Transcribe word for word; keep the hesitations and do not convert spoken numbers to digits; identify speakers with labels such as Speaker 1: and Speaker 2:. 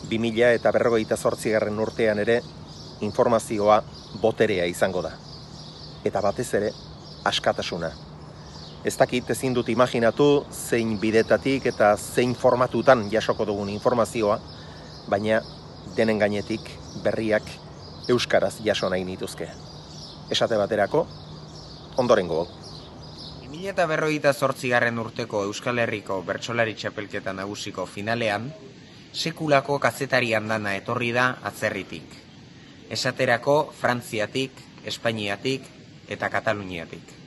Speaker 1: bi mila eta berrogeita zortzigarren urtean ere informazioa boterea izango da. Eta batez ere, askatasuna. Ez dakit ezin dut imaginatu zein bidetatik eta zein formatutan jasoko dugun informazioa, baina denen gainetik berriak euskaraz jaso nahi nituzke. Esate baterako, ondorengo.
Speaker 2: bi mila eta berrogeita zortzigarren urteko Euskal Herriko bertsolari txapelketa nagusiko finalean, sekulako kazetari andana etorri da atzerritik. Esaterako Frantziatik, Espainiatik eta Kataluniatik.